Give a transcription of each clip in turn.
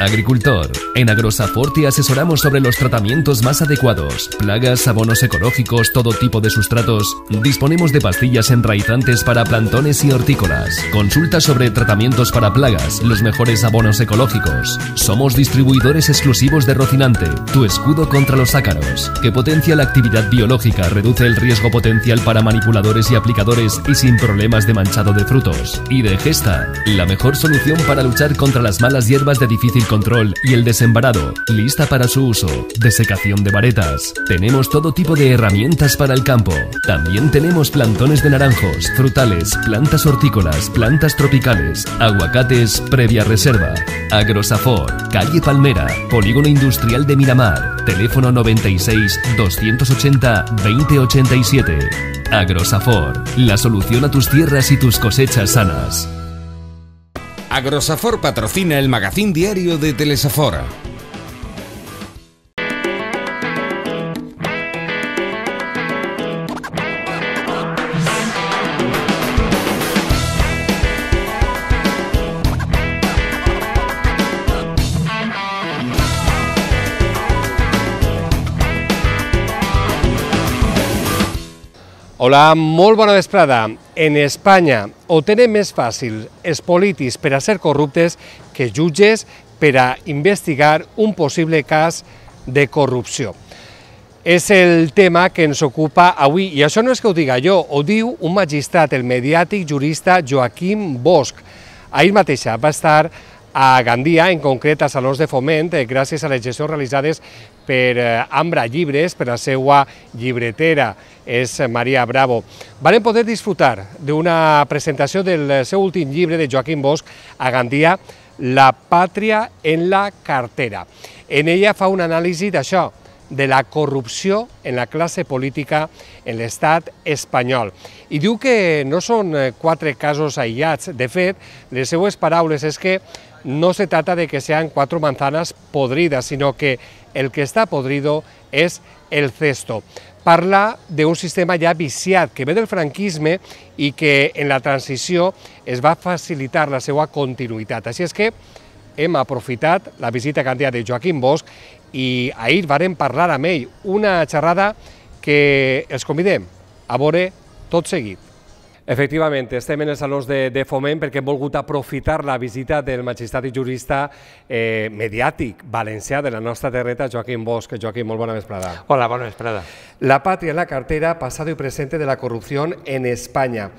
Agricultor. En Agrosafor te asesoramos sobre los tratamientos más adecuados. Plagas, abonos ecológicos, todo tipo de sustratos. Disponemos de pastillas enraizantes para plantones y hortícolas. Consulta sobre tratamientos para plagas, los mejores abonos ecológicos. Somos distribuidores exclusivos de Rocinante, tu escudo contra los ácaros, que potencia la actividad biológica, reduce el riesgo potencial para manipuladores y aplicadores y sin problemas de manchado de frutos. Y de Gesta, la mejor solución para luchar contra las malas hierbas de difícil control y el desembarado, lista para su uso. Desecación de varetas. Tenemos todo tipo de herramientas para el campo. También tenemos plantones de naranjos, frutales, plantas hortícolas, plantas tropicales, aguacates previa reserva. Agrosafor, calle Palmera, Polígono Industrial de Miramar, teléfono 96 280 2087. Agrosafor, la solución a tus tierras y tus cosechas sanas. Agrosafor patrocina el magazín diario de Telesafor. Hola, molt bona vesprada. En Espanya ho tenen més fàcil els polítics per a ser corruptes que jutges per a investigar un possible cas de corrupció. És el tema que ens ocupa avui, i això no és que ho diga jo, ho diu un magistrat, el mediàtic jurista Joaquim Bosch. Ahir mateixa va estar a Gandia, en concret a Salons de Foment, gràcies a les gestions realitzades per Ambra Llibres, per la seva llibretera, és Maria Bravo. Van poder disfrutar d'una presentació del seu últim llibre de Joaquim Bosch a Gandia, La pàtria en la cartera. En ella fa una anàlisi d'això, de la corrupció en la classe política en l'estat espanyol. I diu que no són 4 casos aïllats. De fet, les seues paraules és que no se trata de que sean 4 manzanas podridas, sino que el que está podrido es el cesto. Parla d'un sistema ja viciat que ve del franquisme i que en la transició es va facilitar la seva continuïtat. Així és que hem aprofitat la visita a Gandia de Joaquim Bosch i ahir vàrem parlar amb ell, una xerrada que els convidem a veure tot seguit. Efectivament, estem en els salons de Foment perquè hem volgut aprofitar la visita del magistrat i jurista mediàtic valencià de la nostra terreta, Joaquim Bosch. Joaquim, molt bona vesprada. Hola, bona vesprada. La pàtria en la cartera, pasado y presente de la corrupción en España.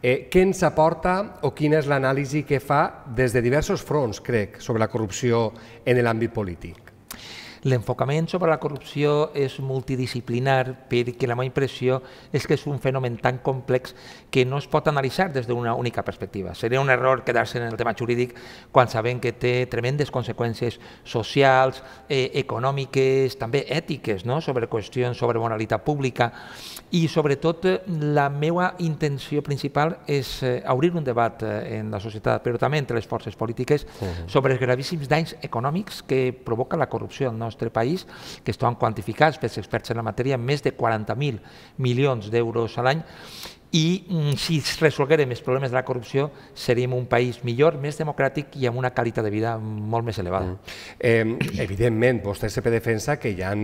Què ens aporta o quina és l'anàlisi que fa des de diversos fronts, crec, sobre la corrupció en l'àmbit polític? L'enfocament sobre la corrupció és multidisciplinar perquè la meva impressió és que és un fenomen tan complex que no es pot analitzar des d'una única perspectiva. Seria un error quedar-se en el tema jurídic quan sabem que té tremendes conseqüències socials, econòmiques, també ètiques, sobre qüestions sobre moralitat pública i sobretot la meva intenció principal és obrir un debat en la societat, però també entre les forces polítiques, sobre els gravíssims danys econòmics que provoca la corrupció al nostre país, que estan quantificats pels experts en la matèria en més de 40.000 milions d'euros a l'any, i si resolguérem els problemes de la corrupció seríem un país millor, més democràtic i amb una qualitat de vida molt més elevada. Evidentment, vostè sempre defensa que hi ha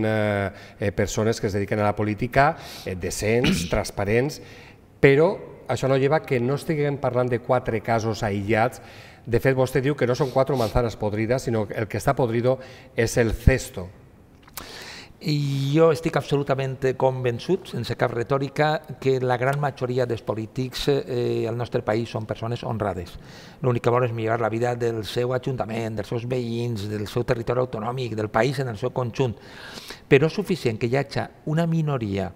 persones que es dediquen a la política decents, transparents, però això no lleva que no estiguem parlant de 4 casos aïllats. De fet, vostè diu que no són 4 manzanas podridas, sinó que el que està podrido és el cesto. Jo estic absolutament convençut, sense cap retòrica, que la gran majoria dels polítics al nostre país són persones honrades. L'únic que volen és millorar la vida del seu ajuntament, dels seus veïns, del seu territori autonòmic, del país en el seu conjunt. Però és suficient que hi hagi una minoria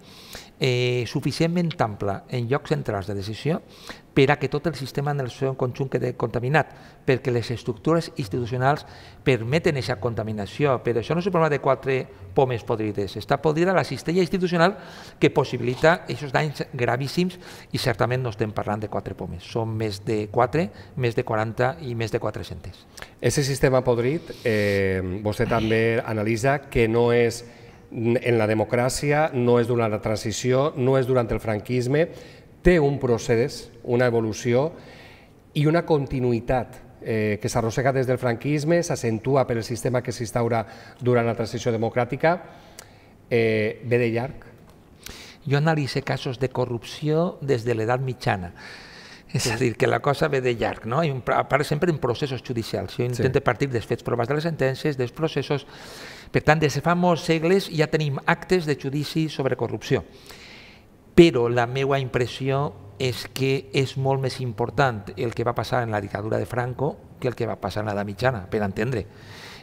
suficientment ampla en llocs centrals de decisió per a que tot el sistema en el seu conjunt quedi contaminat, perquè les estructures institucionals permeten aquesta contaminació. Però això no és un problema de 4 pomes podrides, està podrida la cistella institucional que possibilita aquests danys gravíssims i certament no estem parlant de 4 pomes, són més de 4, més de 40 i més de 400. Aquest sistema podrit, vostè també analitza que no és en la democràcia, no és durant la transició, no és durant el franquisme, té un procés, una evolució i una continuïtat que s'arrossega des del franquisme, s'accentua per el sistema que s'instaura durant la transició democràtica, ve de llarg? Jo analitzo casos de corrupció des de l'edat mitjana. És a dir, que la cosa ve de llarg, no? Parla sempre en processos judicials. Jo intento partir dels fets provats de les sentències, dels processos. Per tant, des de fa molts segles ja tenim actes de judici sobre corrupció. Però la meva impressió és que és molt més important el que va passar en la dictadura de Franco que el que va passar en l'edat mitjana, per entendre.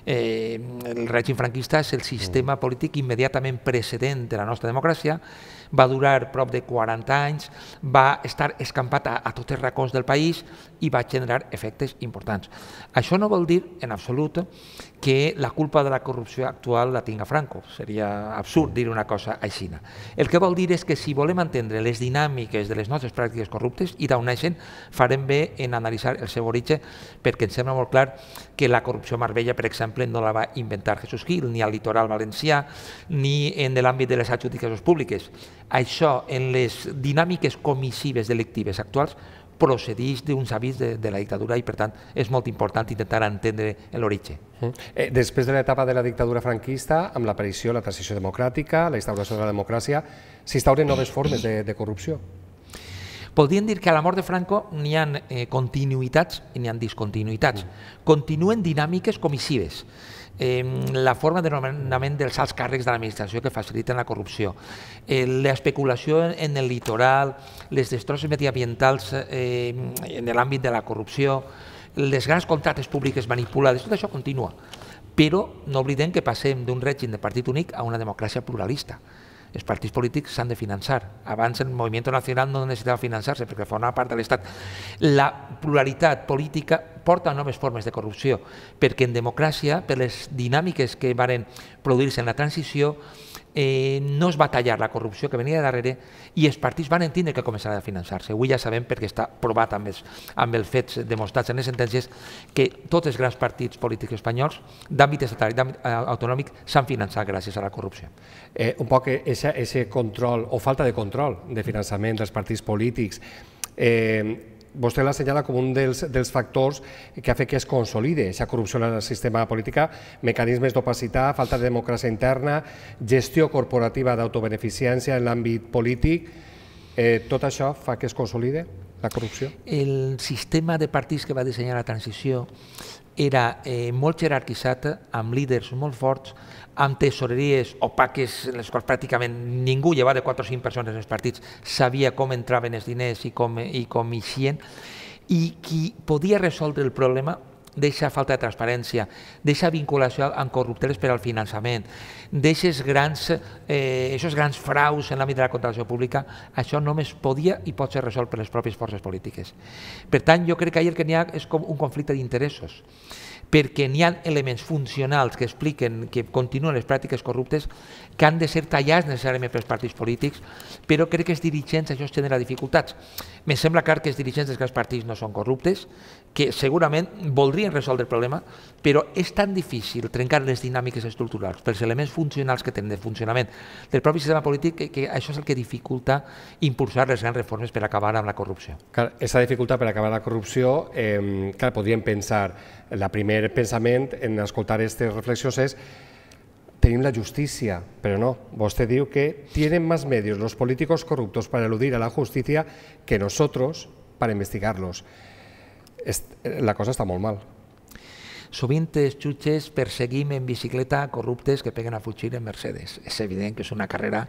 El règim franquista és el sistema polític immediatament precedent de la nostra democràcia, va durar prop de 40 anys, va estar escampat a tots els racons del país i va generar efectes importants. Això no vol dir, en absolut, que la culpa de la corrupció actual la tinga Franco. Seria absurd dir una cosa així. El que vol dir és que si volem entendre les dinàmiques de les nostres pràctiques corruptes i d'on neixen, farem bé en analitzar el seu origen, perquè em sembla molt clar que la corrupció a Marbella, per exemple, no la va inventar Jesús Gil, ni al litoral valencià, ni en l'àmbit de les adjudicacions públiques. Això, en les dinàmiques comissives delictives actuals, procedeix d'uns hàbits de la dictadura i, per tant, és molt important intentar entendre l'origen. Després de l'etapa de la dictadura franquista, amb l'aparició, la transició democràtica, la instauració de la democràcia, s'instauren noves formes de corrupció. Podríem dir que a la mort de Franco n'hi ha continuïtats i n'hi ha discontinuïtats. Continuen dinàmiques comissives. La forma de nomenament dels alts càrrecs de l'administració que faciliten la corrupció, l'especulació en el litoral, les destrosses mediambientals en l'àmbit de la corrupció, les grans contractes públiques manipulades, tot això continua. Però no oblidem que passem d'un règim de partit únic a una democràcia pluralista. Els partits polítics s'han de finançar. Abans el Movimiento Nacional no necessitava finançar-se perquè formava part de l'Estat. La pluralitat política porta noves formes de corrupció, perquè en democràcia, per les dinàmiques que van produir-se en la transició, no es va tallar la corrupció que venia de darrere i els partits van entendre que començaran a finançar-se. Avui ja sabem, perquè està provat amb els fets demostrats en les sentències, que tots els grans partits polítics espanyols d'àmbit estatal i d'àmbit autonòmic s'han finançat gràcies a la corrupció. Un poc aquest control o falta de control de finançament dels partits polítics, vostè l'assenyala com un dels factors que ha fet que es consolide aquesta corrupció en el sistema polític, mecanismes d'opacitat, falta de democràcia interna, gestió corporativa d'autobeneficiència en l'àmbit polític. Tot això fa que es consolide la corrupció? El sistema de partits que va dissenyar la transició era molt jerarquitzat, amb líders molt forts, amb tesoreries opaques en les quals pràcticament ningú, llevat de 4 o 5 persones en els partits, sabia com entraven els diners i com eixien, i qui podia resoldre el problema d'aquesta falta de transparència, d'aquesta vinculació amb corrupteles per al finançament, d'aquests grans fraus en l'àmbit de la contractació pública, això només podia i pot ser resolt per les pròpies forces polítiques. Per tant, jo crec que ahir el que n'hi ha és com un conflicte d'interessos, perquè n'hi ha elements funcionals que expliquen que continuen les pràctiques corruptes que han de ser tallats necessàriament pels partits polítics, però crec que els dirigents això es genera dificultats. Me sembla clar que els dirigents dels grans partits no són corruptes, que segurament voldrien resoldre el problema, però és tan difícil trencar les dinàmiques estructurals pels elements funcionals que tenen de funcionament del propi sistema polític que això és el que dificulta impulsar les grans reformes per acabar amb la corrupció. Aquesta dificultat per acabar la corrupció, podríem pensar, el primer pensament en escoltar aquestes reflexions és tenim la justícia, però no. Vostè diu que tienen más medios los políticos corruptos para eludir a la justicia que nosotros para investigarlos. La cosa està molt mal. Sovint els jutges perseguim en bicicleta corruptes que peguen a fugir en Mercedes. És evident que és una carrera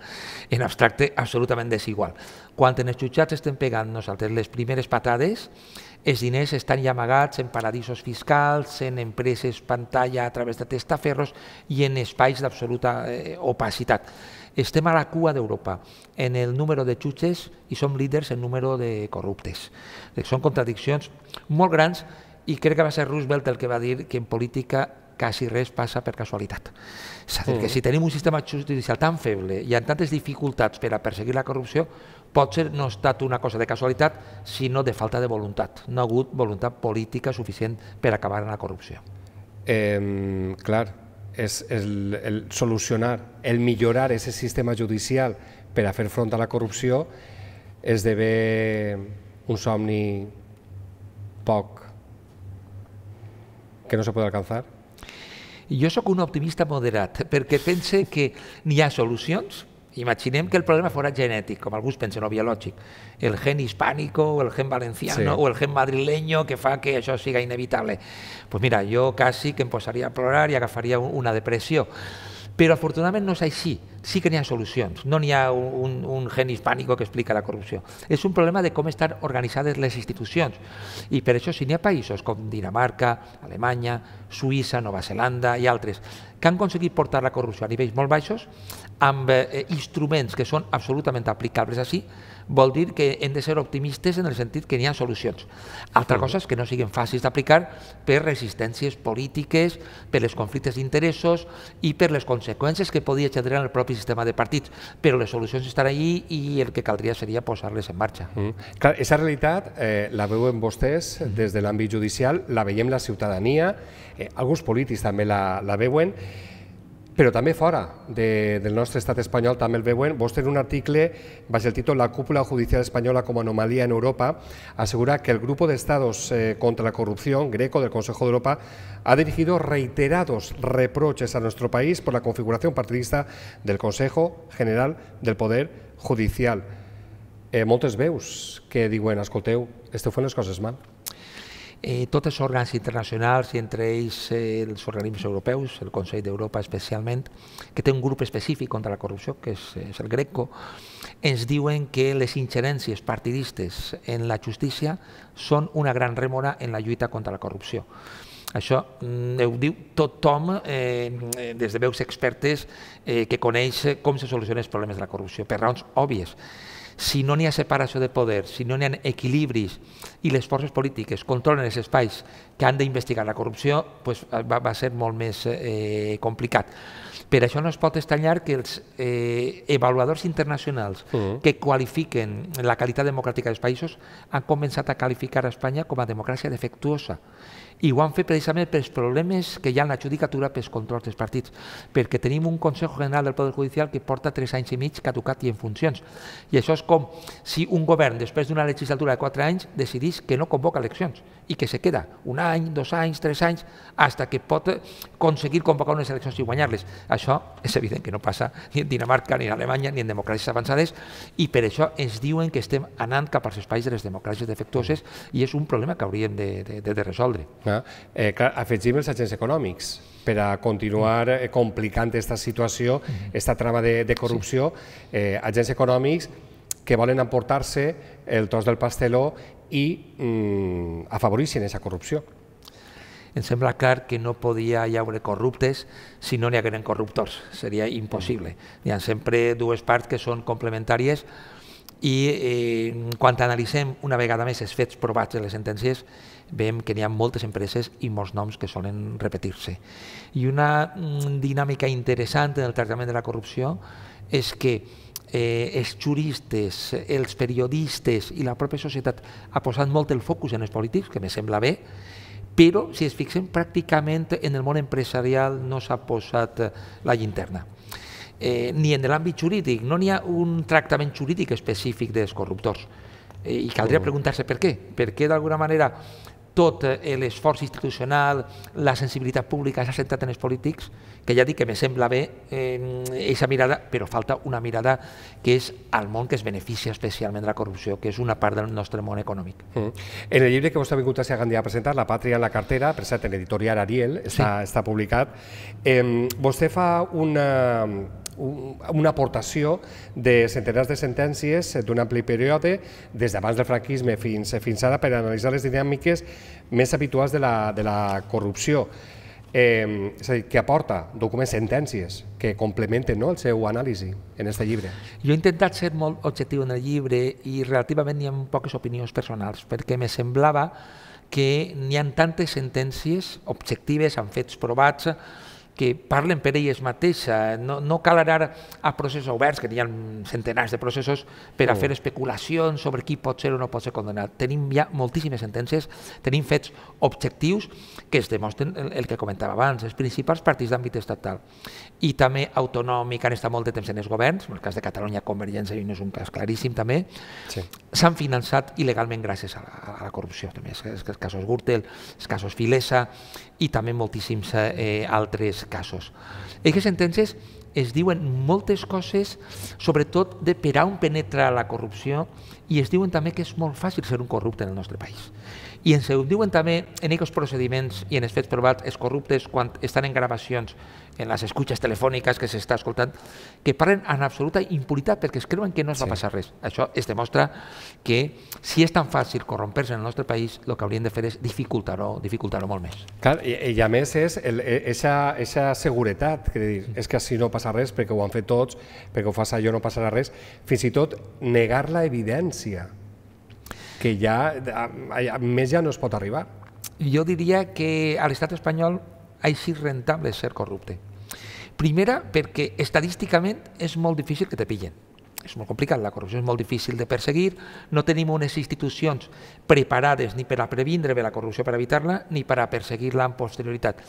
en abstracte absolutament desigual. Quan en els jutjats estem pegant nosaltres les primeres patades, els diners estan ja amagats en paradisos fiscals, en empreses pantalla a través de testaferros i en espais d'absoluta opacitat. Estem a la cua d'Europa en el número de jutges i som líders en número de corruptes. Són contradiccions molt grans i crec que va ser Roosevelt el que va dir que en política quasi res passa per casualitat. És a dir, que si tenim un sistema judicial tan feble i amb tantes dificultats per a perseguir la corrupció, potser no ha estat una cosa de casualitat, sinó de falta de voluntat. No ha hagut voluntat política suficient per acabar amb la corrupció. Clar, és el solucionar, el millorar aquest sistema judicial per a fer front a la corrupció esdevé un somni poc que no se puede alcanzar? Jo sóc un optimista moderat, perquè pense que n'hi ha solucions. Imaginem que el problema fora genètic, com alguns pensen, o biològic. El gen hispànico, o el gen valenciano, o el gen madrileño, que fa que això siga inevitable. Pues mira, jo quasi que em posaria a plorar i agafaria una depressió. Però afortunadament no és així, sí que n'hi ha solucions, no n'hi ha un gen hispànico que explica la corrupció. És un problema de com estan organitzades les institucions i per això si n'hi ha països com Dinamarca, Alemanya, Suïssa, Nova Zelanda i altres que han aconseguit portar la corrupció a nivells molt baixos amb instruments que són absolutament aplicables així, vol dir que hem de ser optimistes en el sentit que n'hi ha solucions. Altra cosa és que no siguin fàcils d'aplicar per resistències polítiques, per els conflictes d'interessos i per les conseqüències que podia generar el propi sistema de partits, però les solucions estan allí i el que caldria seria posar-les en marxa. Clar, aquesta realitat la veuen vostès des de l'àmbit judicial, la veiem la ciutadania, alguns polítics també la veuen, però també fora del nostre estat espanyol també el veuen. Vostè en un article, baix el títol La cúpula judicial española como anomalía en Europa, asegura que el Grupo de Estados contra la Corrupción, Greco, del Consejo de Europa, ha dirigido reiterados reproches a nuestro país por la configuración partidista del Consejo General del Poder Judicial. Moltes veus que diuen, escolteu, esteu fent les coses mal. Tots els òrgans internacionals, i entre ells els organismes europeus, el Consell d'Europa especialment, que té un grup específic contra la corrupció, que és el Greco, ens diuen que les ingerències partidistes en la justícia són una gran rèmora en la lluita contra la corrupció. Això ho diu tothom, des de veus expertes, que coneix com se solucionen els problemes de la corrupció, per raons òbvies. Si no n'hi ha separació de poder, si no n'hi ha equilibris i les forces polítiques controlen els espais que han d'investigar la corrupció, va ser molt més complicat. Per això no es pot estranyar que els avaluadors internacionals que qualifiquen la qualitat democràtica dels països han començat a qualificar a Espanya com a democràcia defectuosa. I ho han fet precisament pels problemes que hi ha en la judicatura pels controls dels partits, perquè tenim un Consejo General del Poder Judicial que porta 3 anys i mig caducat i en funcions. I això és com si un govern, després d'una legislatura de 4 anys, decidís que no convoca eleccions i que se queda 1 any, 2 anys, 3 anys, fins que pot aconseguir convocar unes eleccions i guanyar-les. Això és evident que no passa ni en Dinamarca, ni en Alemanya, ni en democràcies avançades, i per això ens diuen que estem anant cap als espais de les democràcies defectuoses i és un problema que hauríem de resoldre. Clar, afegim els agents econòmics per a continuar complicant aquesta situació, aquesta trama de corrupció, agents econòmics que volen emportar-se el tros del pasteló i afavoreixen aquesta corrupció. Em sembla clar que no podia haver corruptes si no n'hi hagueren corruptors, seria impossible. Hi ha sempre dues parts que són complementàries i quan analitzem una vegada més els fets provats de les sentències veiem que n'hi ha moltes empreses i molts noms que solen repetir-se. I una dinàmica interessant en el tractament de la corrupció és que els juristes, els periodistes i la pròpia societat ha posat molt el focus en els polítics, que me sembla bé, però si es fixem pràcticament en el món empresarial no s'ha posat la llinterna. Ni en l'àmbit jurídic, no n'hi ha un tractament jurídic específic dels corruptors. I caldria preguntar-se per què. Per què d'alguna manera tot l'esforç institucional, la sensibilitat pública s'ha centrat en els polítics, que ja dic que me sembla bé aquesta mirada, però falta una mirada que és al món que es beneficia especialment de la corrupció, que és una part del nostre món econòmic. En el llibre que vostè ha vingut a Gandia a presentar, La pàtria en la cartera, per cert, en l'editorial Ariel, està publicat, vostè fa una aportació de centenars de sentències d'un ampli període, des d'abans del franquisme fins ara, per analitzar les dinàmiques més habituals de la corrupció. És a dir, que aporta documents, sentències, que complementen el seu anàlisi en aquest llibre. Jo he intentat ser molt objectiu en el llibre i relativament n'hi ha poques opinions personals, perquè me semblava que n'hi ha tantes sentències objectives amb fets provats que parlen per elles mateixes. No cal anar a processos oberts, que hi ha centenars de processos, per a fer especulacions sobre qui pot ser o no pot ser condemnat. Tenim ja moltíssimes sentències, tenim fets objectius que es demostren el que comentava abans, els principals partits d'àmbit estatal i també autonòmic, han estat molt de temps en els governs, en el cas de Catalunya, Convergència i Unió és un cas claríssim també, s'han finançat il·legalment gràcies a la corrupció, també els casos Gürtel, els casos Filesa i també moltíssims altres casos. Aquestes sentències es diuen moltes coses, sobretot de per on penetra la corrupció, i es diuen també que és molt fàcil ser un corrupte en el nostre país. I ens ho diuen també en aquests procediments i en els fets provats els corruptes quan estan en gravacions, en les escuches telefòniques que s'està escoltant, que parlen amb absoluta impunitat perquè es creuen que no es va passar res. Això es demostra que si és tan fàcil corromper-se en el nostre país, el que hauríem de fer és dificultar-ho molt més. Clar, i a més és aquesta seguretat, és que si no passa res perquè ho han fet tots, perquè ho fas allò no passarà res, fins i tot negar la evidència, que ja més ja no es pot arribar. Jo diria que a l'estat espanyol ha sigut rentable ser corrupte. Primera, perquè estadísticament és molt difícil que te pillen. És molt complicat, la corrupció és molt difícil de perseguir, no tenim unes institucions preparades ni per a previndre la corrupció per evitar-la, ni per a perseguir-la en posterioritat.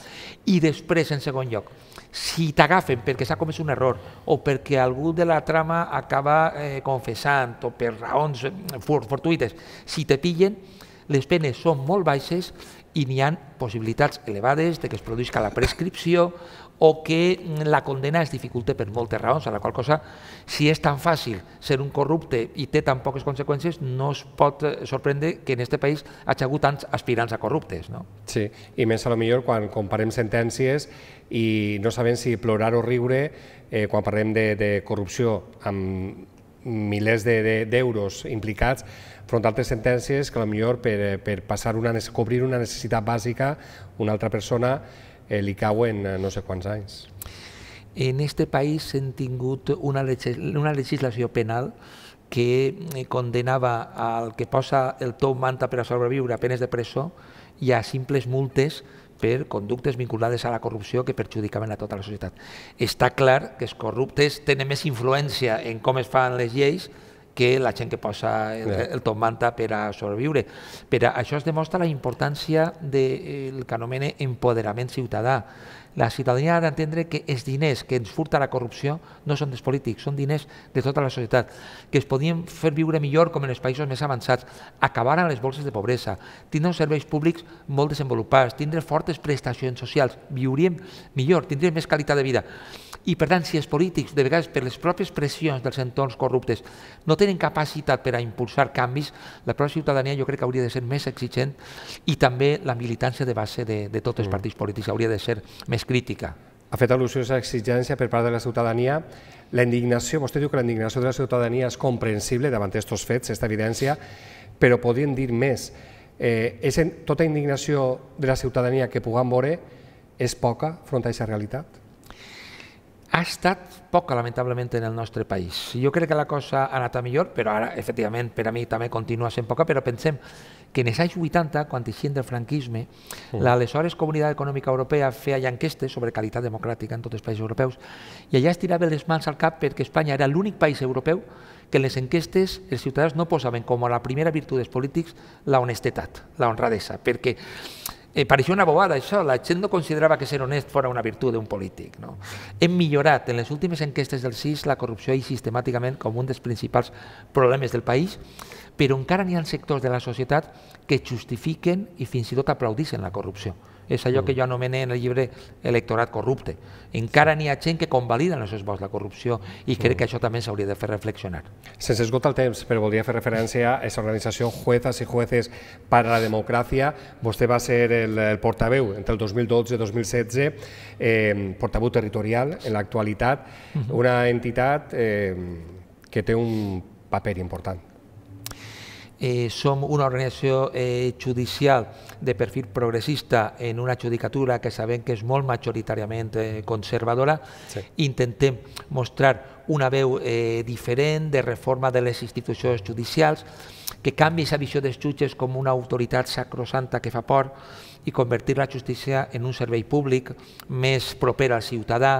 I després, en segon lloc, si t'agafen perquè s'ha comès un error o perquè algú de la trama acaba confessant o per raons fortuïtes, si te pillen, les penes són molt baixes i n'hi ha possibilitats elevades de que es produïsca la prescripció o que la condena es dificulte per moltes raons, a la qual cosa, si és tan fàcil ser un corrupte i té tan poques conseqüències, no es pot sorprendre que en aquest país hi hagi hagut tants aspirants a corruptes. Sí, i més a lo millor quan comparem sentències i no sabem si plorar o riure quan parlem de corrupció amb milers d'euros implicats front a altres sentències que potser per cobrir una necessitat bàsica una altra persona li cauen no sé quants anys. En aquest país hem tingut una legislació penal que condenava al que posa el top manta per a sobreviure a penes de presó i a simples multes per conductes vinculades a la corrupció que perjudicaven a tota la societat. Està clar que els corruptes tenen més influència en com es fan les lleis que la gent que posa el top manta per a sobreviure. Per això es demostra la importància del que anomena empoderament ciutadà. La ciutadania ha d'entendre que els diners que ens furta la corrupció no són dels polítics, són diners de tota la societat, que es podien fer viure millor com en els països més avançats, acabar amb les bolses de pobresa, tindre uns serveis públics molt desenvolupats, tindre fortes prestacions socials, viuríem millor, tindríem més qualitat de vida. I per tant, si els polítics, de vegades per les pròpies pressions dels entorns corruptes, no tenen capacitat per a impulsar canvis, la pròpia ciutadania jo crec que hauria de ser més exigent i també la militància de base de tots els partits polítics hauria de ser més crítica. Ha fet al·lusió a aquesta exigència per part de la ciutadania. La indignació, vostè diu que la indignació de la ciutadania és comprensible davant d'aquests fets, aquesta evidència, però podríem dir més. Tota indignació de la ciutadania que puguem veure és poca front a aquesta realitat? Ha estat poca, lamentablement, en el nostre país. Jo crec que la cosa ha anat a millor, però ara, efectivament, per a mi també continua sent poca, però pensem que en els anys 80, quan eixien del franquisme, l'aleshores Comunitat Econòmica Europea feia enquestes sobre qualitat democràtica en tots els països europeus i allà es tiraven les mans al cap perquè Espanya era l'únic país europeu que en les enquestes els ciutadans no posaven com a la primera virtut dels polítics la honestedat, la honradesa, perquè pareixia una bobada això, la gent no considerava que ser honest fora una virtut d'un polític. Hem millorat en les últimes enquestes del CIS la corrupció i sistemàticament com un dels principals problemes del país, però encara n'hi ha sectors de la societat que justifiquen i fins i tot aplaudixen la corrupció. És allò que jo anomene en el llibre electorat corrupte. Encara n'hi ha gent que convalida en els seus vots la corrupció i crec que això també s'hauria de fer reflexionar. Sense esgotar el temps, però voldria fer referència a aquesta organització Juezas y Jueces para la Democracia. Vostè va ser el portaveu entre el 2012 i 2016, portaveu territorial en l'actualitat, una entitat que té un paper important. som una organització judicial de perfil progressista en una judicatura que sabem que és molt majoritàriament conservadora. Intentem mostrar una veu diferent de reforma de les institucions judicials, que canvi aquesta visió dels jutges com una autoritat sacrosanta que fa por i convertir la justícia en un servei públic més proper al ciutadà,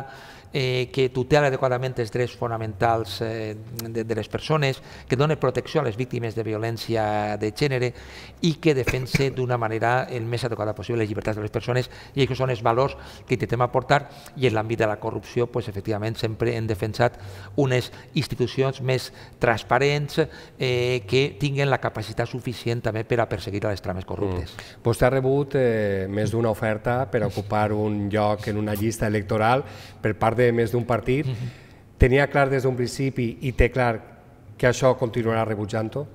que tutela adequadament els drets fonamentals de les persones, que dona protecció a les víctimes de violència de gènere i que defensa d'una manera el més adequada possible les llibertats de les persones, i aquests són els valors que intentem aportar. I en l'àmbit de la corrupció, efectivament, sempre hem defensat unes institucions més transparents que tinguin la capacitat suficient també per a perseguir les trames corruptes. Vostè ha rebut més d'una oferta per ocupar un lloc en una llista electoral per part de més d'un partit. Tenia clar des d'un principi i té clar que això continuarà rebutjant-ho?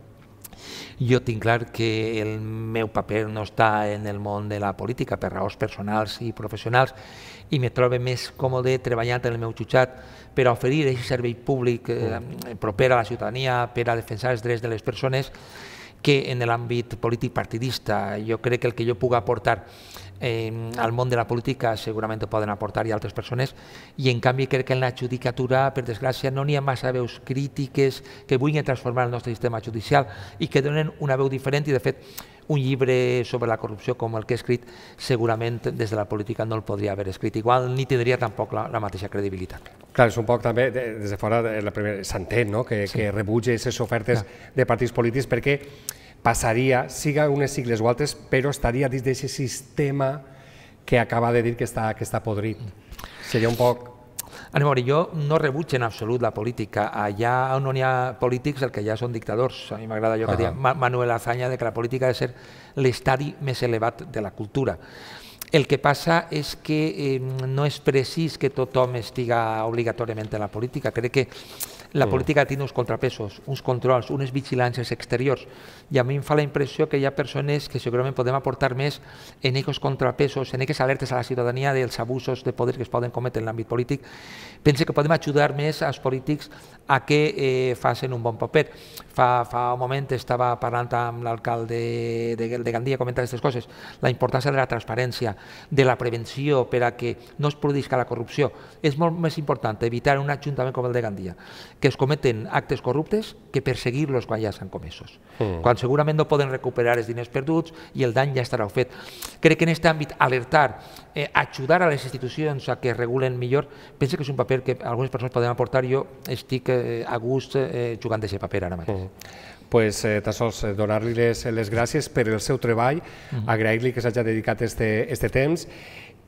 Jo tinc clar que el meu paper no està en el món de la política per raons personals i professionals, i me trobo més còmode treballant en el meu jutjat per a oferir aquest servei públic proper a la ciutadania, per a defensar els drets de les persones, que en l'àmbit polític partidista. Jo crec que el que jo puc aportar al món de la política segurament ho poden aportar i altres persones, i en canvi crec que en la judicatura, per desgràcia, no n'hi ha massa veus crítiques que vulguin transformar el nostre sistema judicial i que donen una veu diferent. I de fet, un llibre sobre la corrupció com el que he escrit segurament des de la política no el podria haver escrit igual, ni tindria tampoc la mateixa credibilitat. Clar, és un poc també, des de fora, s'entén que rebutge aquestes ofertes de partits polítics perquè passaria, siga unes sigles o altres, però estaria dins d'aquest sistema que acaba de dir que està podrit. Seria un poc... Anem a veure, jo no rebutge en absolut la política. Allà on no hi ha polítics, el que hi ha són dictadors. A mi m'agrada allò que deia Manuel Azaña, de que la política ha de ser l'estadi més elevat de la cultura. El que passa és que no és precís que tothom estiga obligatòriament en la política. Crec que la política té uns contrapesos, uns controls, unes vigilàncies exteriors, i a mi em fa la impressió que hi ha persones que segurament podem aportar més en aquests contrapesos, en aquestes alertes a la ciutadania dels abusos de poder que es poden cometre en l'àmbit polític. Penso que podem ajudar més als polítics a que facin un bon paper. Fa un moment estava parlant amb l'alcalde de Gandia, comentant aquestes coses, la importància de la transparència, de la prevenció per a que no es produïsca la corrupció. És molt més important evitar un ajuntament com el de Gandia que es cometen actes corruptes que perseguir-los quan ja s'han comesos. Quan segurament no poden recuperar els diners perduts i el dany ja estarà fet. Crec que en aquest àmbit alertar, ajudar a les institucions a que regulen millor, penso que és un paper que algunes persones poden aportar. Jo estic a gust jugant d'aquest paper ara mateix. Pues tan sols donar-li les gràcies per el seu treball, agrair-li que s'hagi dedicat este temps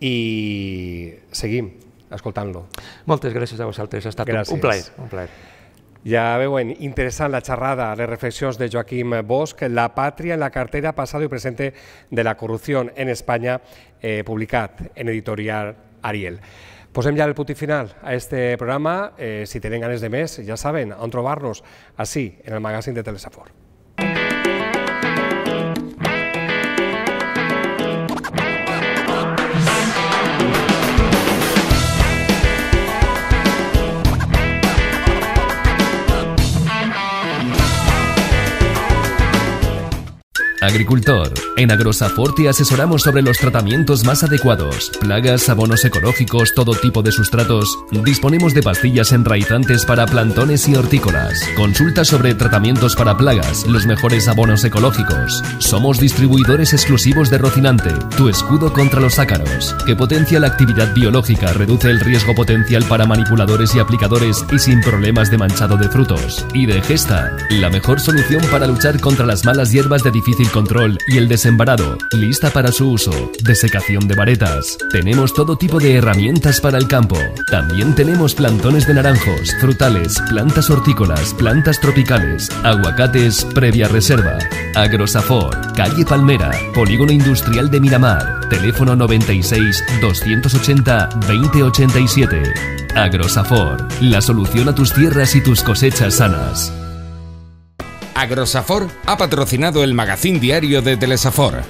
i seguim escoltant-lo. Moltes gràcies a vosaltres, ha estat un plaer. Ja veuen, interessant la xerrada, les reflexions de Joaquim Bosch, La patria en la cartera, pasado y presente de la corrupción en España, publicat en editorial Ariel. Posem ja el punt final a este programa. Si tenen ganes de més, ja saben on trobar-nos, així, en el magazín de Telesafor. Agricultor. En Agrosafor te asesoramos sobre los tratamientos más adecuados, plagas, abonos ecológicos, todo tipo de sustratos. Disponemos de pastillas enraizantes para plantones y hortícolas. Consulta sobre tratamientos para plagas, los mejores abonos ecológicos. Somos distribuidores exclusivos de Rocinante, tu escudo contra los ácaros, que potencia la actividad biológica, reduce el riesgo potencial para manipuladores y aplicadores y sin problemas de manchado de frutos. Y de Gesta, la mejor solución para luchar contra las malas hierbas de difícil control y el desembarado, lista para su uso, desecación de varetas. Tenemos todo tipo de herramientas para el campo. También tenemos plantones de naranjos, frutales, plantas hortícolas, plantas tropicales, aguacates previa reserva. Agrosafor, calle Palmera, Polígono Industrial de Miramar, teléfono 96 280 2087. Agrosafor, la solución a tus tierras y tus cosechas sanas. Agrosafor ha patrocinado el magazín diario de Telesafor.